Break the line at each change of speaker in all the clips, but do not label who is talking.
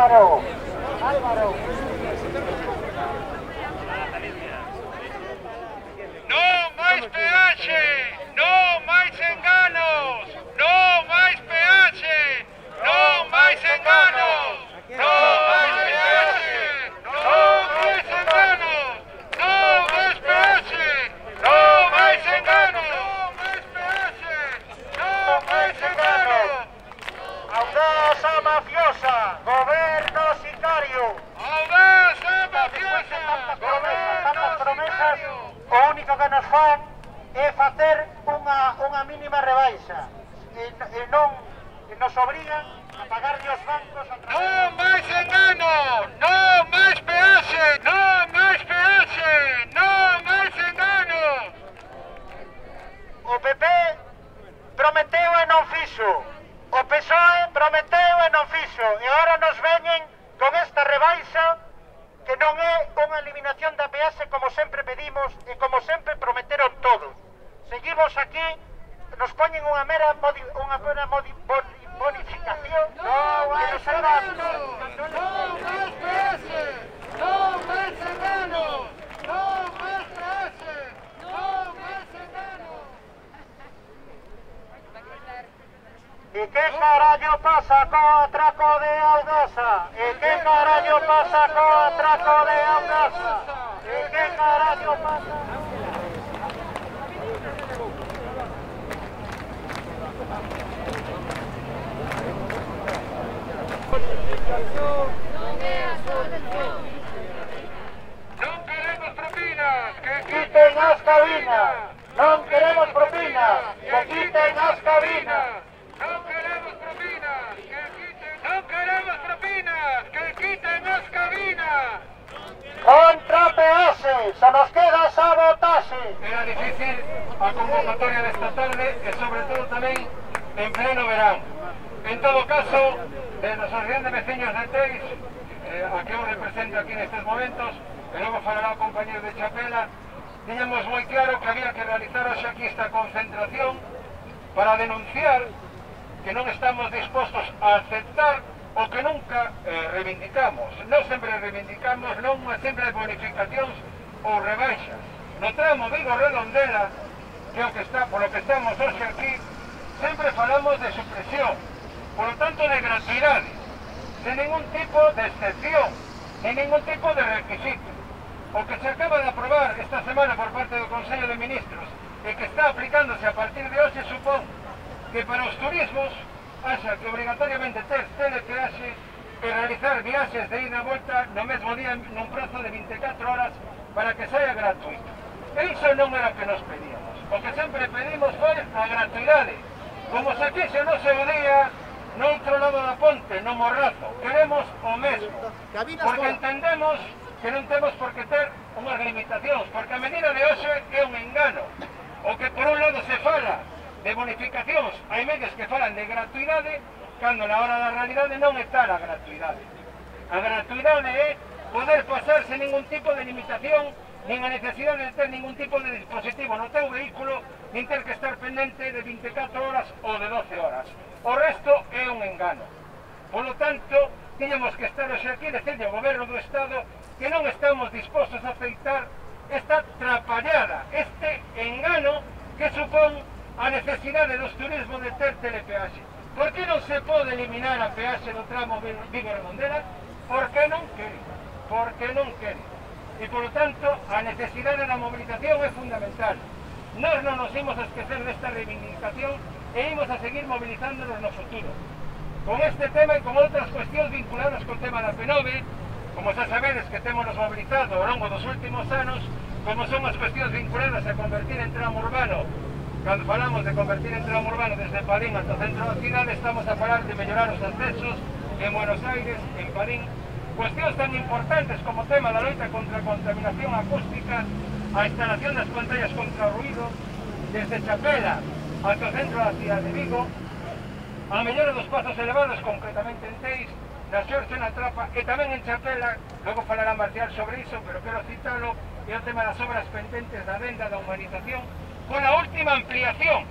Álvaro. Álvaro.
Non máis peaxe, non máis enganos, non máis peaxe, non máis enganos, non máis peaxe, non máis enganos, non máis peaxe, non máis enganos, non máis peaxe, non máis enganos.
Audasa mafiosa, goberno sicario.
Audasa mafiosa,
Tantas promesas, o único que nos fan é facer unha mínima rebaixa e non nos obrigan a pagarlle os bancos a través...
Non máis enganos, non máis peaxe, non máis peaxe, non máis enganos.
O PP prometeu e non fixo. O PSOE prometeu e non fixo. E agora nos veñen con esta rebaixa que non é unha eliminación da peaxe como sempre pedimos e como sempre prometeron todos. Seguimos aquí, nos poñen unha mera bonificación.
Non máis
que nos haga...
enganos, non máis peaxe, non máis enganos, non máis peaxe, non máis enganos.
E que carallo pasa co atraco de Audasa? E que carallo pasa co atraco de Audasa? E que carallo pasa?
Non queremos propinas, que
Quiten as cabinas! Non queremos propinas! Que quiten as cabinas!
non queremos propinas, que quiten, non queremos propinas, que quiten as cabinas.
Contra peaxe! Só nos queda sabotaxe!
Era difícil a convocatoria desta tarde e sobre todo tamén en pleno verán. En todo caso, de nos Asociación de Veciños de Teis, a que eu represento aquí nestes momentos, e logo falará o compañero de Chapela, tiñamos moi claro que había que realizar hoxe aquí esta concentración para denunciar que non estamos dispostos a aceptar o que nunca reivindicamos. Non sempre reivindicamos non unha simple bonificacións ou rebaixas. No tramo Vigo-Redondela, que é o que está, polo que estamos hoxe aquí, sempre falamos de supresión, polo tanto de gratuidade, sen ningún tipo de excepción, nin ningún tipo de requisito. O que se acaba de aprobar esta semana por parte do Consello de Ministros e que está aplicándose a partir de hoxe supón que para os turismos haxa que obrigatoriamente ter telepeaxe e realizar viaxes de ida e volta no mesmo día nun prazo de 24 horas para que saia gratuito. E iso non era o que nos pedíamos. O que sempre pedimos foi a gratuidade. Como se quise no seu día no outro lado da ponte, no Morrazo. Queremos o mesmo. Porque entendemos que non temos por que ter unhas limitacións, porque a medida de hoxe é un engano. O que por un lado se fala de bonificacións, hai medios que falan de gratuidade, cando na hora da realidade non está a gratuidade. A gratuidade é poder pasar sen ningún tipo de limitación, nin a necesidade de ter ningún tipo de dispositivo no teu vehículo, nin ter que estar pendente de 24 horas ou de 12 horas. O resto é un engano. Polo tanto, tiñamos que estar hoxe aquí e decirle ao Goberno do Estado que non estamos dispostos a aceitar esta trapallada, este engano que supón a necesidade dos turismos de ter telepeaxe. Por que non se pode eliminar a peaxe do tramo Vigo-Redondela? Porque non quere. Porque non quere. E, polo tanto, a necesidade da mobilización é fundamental. Nós non nos imos a esquecer desta reivindicación e imos a seguir mobilizándonos no futuro. Con este tema e con outras cuestións vinculadas co tema da P9, como xa sabedes que temos mobilizado ao longo dos últimos anos, como son as cuestións vinculadas a convertir en tramo urbano. Cando falamos de convertir en tramo urbano desde Padín ata o centro da cidade, estamos a falar de mellorar os accesos en Buenos Aires, en Padín, cuestións tan importantes como o tema da loita contra a contaminación acústica, a instalación das pantallas contra o ruido, desde Chapela ata o centro da cidade de Vigo, a mellora dos espazos elevados, concretamente en Teis, na Xorxe, na Trapa e tamén en Chapela. Logo falará Marcial sobre iso, pero quero citalo, e o tema das obras pendentes da venda da humanización pola última ampliación.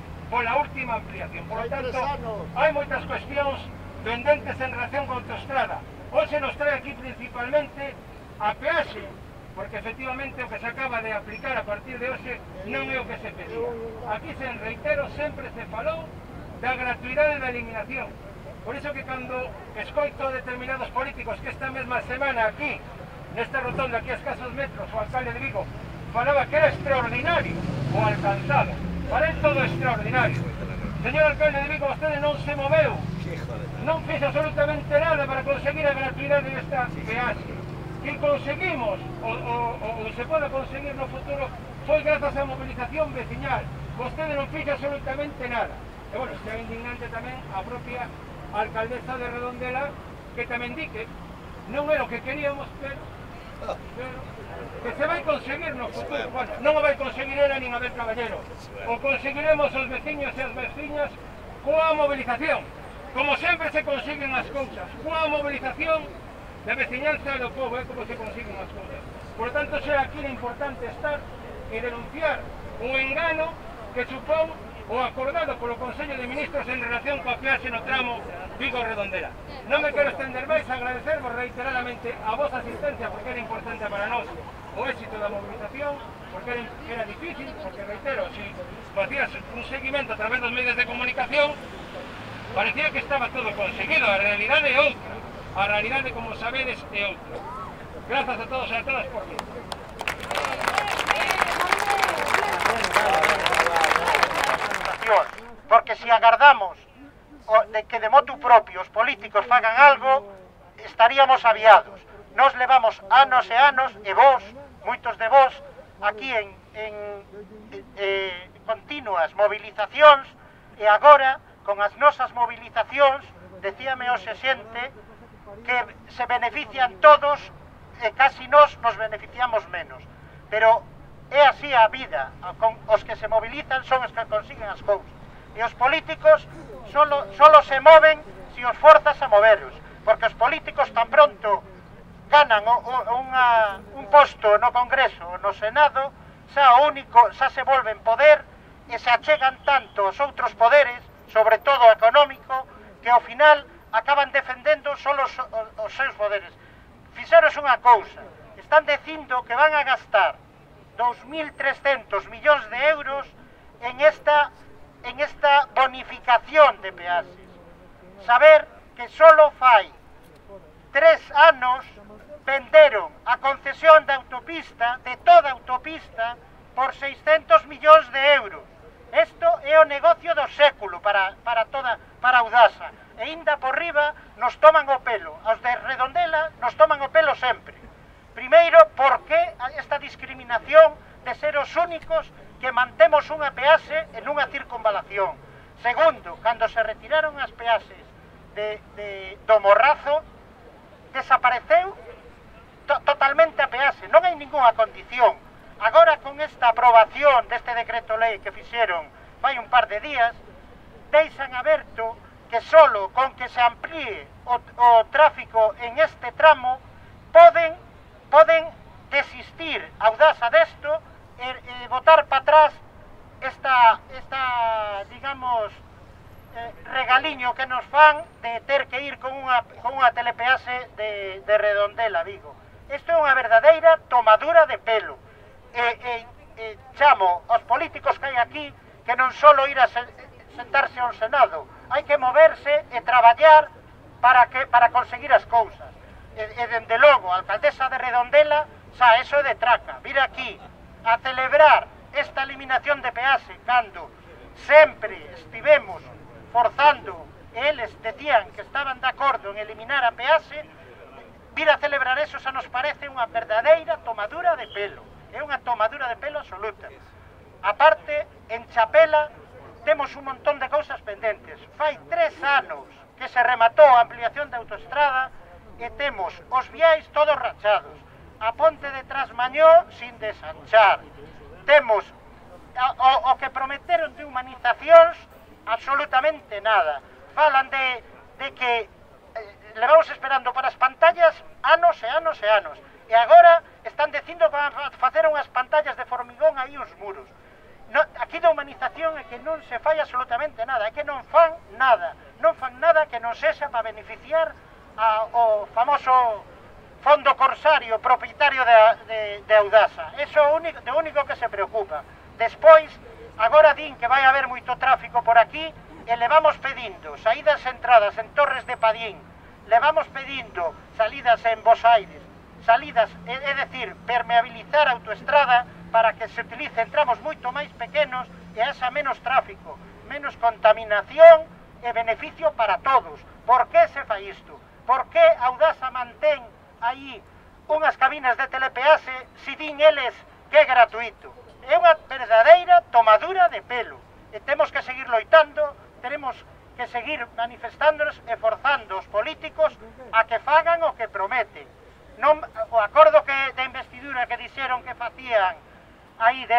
Por lo tanto, hai moitas cuestións pendentes en relación con a autoestrada. Hoxe nos trae aquí principalmente a peaxe, porque efectivamente o que se acaba de aplicar a partir de hoxe non é o que se pedía. Aquí, se reitero, sempre se falou da gratuidade da eliminación. Por iso que cando escoito a determinados políticos que esta mesma semana aquí, nesta rotonda, aquí a escasos metros, o alcalde de Vigo falaba que era extraordinario o alcanzado. Para él todo extraordinario. Señor alcalde de Vigo, vostede non se moveu, non fixo absolutamente nada para conseguir a gratuidade desta peaxe. Que conseguimos, ou se pode conseguir no futuro, foi grazas á movilización veciñal. Vostede non fixo absolutamente nada. E, bueno, está indignante tamén a propia alcaldesa de Redondela, que tamén di que non é o que queríamos, pero que se vai conseguir no futuro. Bueno, non o vai conseguir ela nin Abel Caballero. O conseguiremos os veciños e as veciñas coa movilización. Como sempre se consiguen as cousas, coa movilización da veciñanza do povo, é como se consiguen as cousas. Por tanto, será aquí importante estar e denunciar o engano que supón o acordado polo Consello de Ministros en relación coa peaxe no tramo Vigo-Redondela. Non me quero estender máis, agradecervos reiteradamente a vosa asistencia, porque era importante para nós o éxito da movilización, porque era difícil, porque reitero, se facías un seguimento a través dos medios de comunicación, parecía que estaba todo conseguido. A realidade é outra. A realidade, como sabedes, é outra. Grazas a todos e a todas por vir.
Porque se agardamos de que de motu propio os políticos fagan algo, estaríamos aviados. Nos levamos anos e anos, e vos, moitos de vos, aquí en continuas movilizacións, e agora, con as nosas movilizacións, decíame hoxe xente que se benefician todos e casi nos beneficiamos menos. Pero é así a vida, os que se movilizan son os que consiguen as cousas. E os políticos solo se moven se os forzas a moveros, porque os políticos tan pronto ganan un posto no Congreso ou no Senado, xa se volven poder e se achegan tanto aos outros poderes, sobre todo o económico, que ao final acaban defendendo solo os seus poderes. Fixeros unha cousa, están dicindo que van a gastar 2.300 millóns de euros en esta bonificación de peaxes. Saber que solo fai 3 anos venderon a concesión da autopista, de toda a autopista, por 600 millóns de euros. Isto é o negocio do século para Audasa. E inda por riba nos toman o pelo. Aos de Redondela nos toman o pelo sempre. Primeiro, porque esta discriminación de ser os únicos que mantemos unha peaxe en unha circunvalación. Segundo, cando se retiraron as peaxes do Morrazo, desapareceu totalmente a peaxe, non hai ningunha condición. Agora, con esta aprobación deste decreto lei que fixeron fai un par de días, deixan aberto que solo con que se amplíe o tráfico en este tramo poden desistir Audasa desto e botar para atrás esta digamos, regaliño que nos fan de ter que ir con unha telepeaxe de Redondela, Vigo. Isto é unha verdadeira tomadura de pelo. Chamo aos políticos que hai aquí que non só ir a sentarse ao Senado, hai que moverse e traballar para conseguir as cousas. E dende logo, a alcaldesa de Redondela, xa, eso é de traca, vir aquí a celebrar esta eliminación de peaxe cando sempre estivemos forzando, e eles decían que estaban de acordo en eliminar a peaxe, vir a celebrar eso xa nos parece unha verdadeira tomadura de pelo. É unha tomadura de pelo absoluta. A parte, en Chapela temos un montón de cousas pendentes. Fai 3 anos que se rematou a ampliación da autoestrada e temos os viais todos rachados. A ponte de Trasmañó sin desanchar. Temos o que prometeron de humanizacións, absolutamente nada. Falan de que levamos esperando para as pantallas anos e anos e anos. E agora están dicindo que van a facer unhas pantallas de formigón aí uns muros. Aquí da humanización é que non se fai absolutamente nada, é que non fan nada que non sexa para beneficiar o famoso fondo corsario propietario de Audasa. Eso é o único que se preocupa. Despois, agora din que vai haber moito tráfico por aquí e le vamos pedindo saídas e entradas en Torres de Padín, le vamos pedindo salidas en Bos Aires, salidas, é dicir, permeabilizar a autoestrada para que se utilice en tramos moito máis pequenos e haxa menos tráfico, menos contaminación e beneficio para todos. Por que se fai isto? Por que Audasa mantén aí unhas cabinas de telepeaxe se din eles que é gratuito? É unha verdadeira tomadura de pelo e temos que seguir loitando, tenemos que seguir manifestándonos e forzando os políticos a que fagan o que prometen. Non, o acordo de investidura que dixeron que facían aí de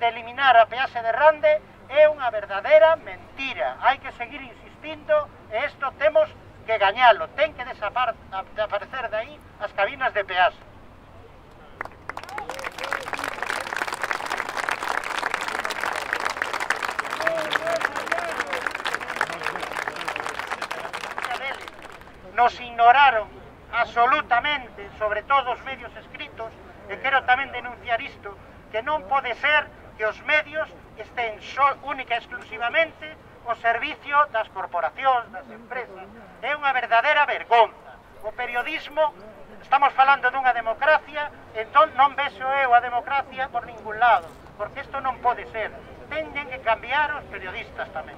eliminar a peaxe de Rande é unha verdadeira mentira. Hai que seguir insistindo e isto temos que gañalo, ten que desaparecer de aí as cabinas de peaxe. Nos ignoraron absolutamente, sobre todo os medios escritos, e quero tamén denunciar isto, que non pode ser que os medios estén única e exclusivamente ao servicio das corporacións, das empresas. É unha verdadeira vergonza. O periodismo, estamos falando dunha democracia, entón non vexo eu a democracia por ningún lado, porque isto non pode ser. Teñen que cambiar os periodistas tamén.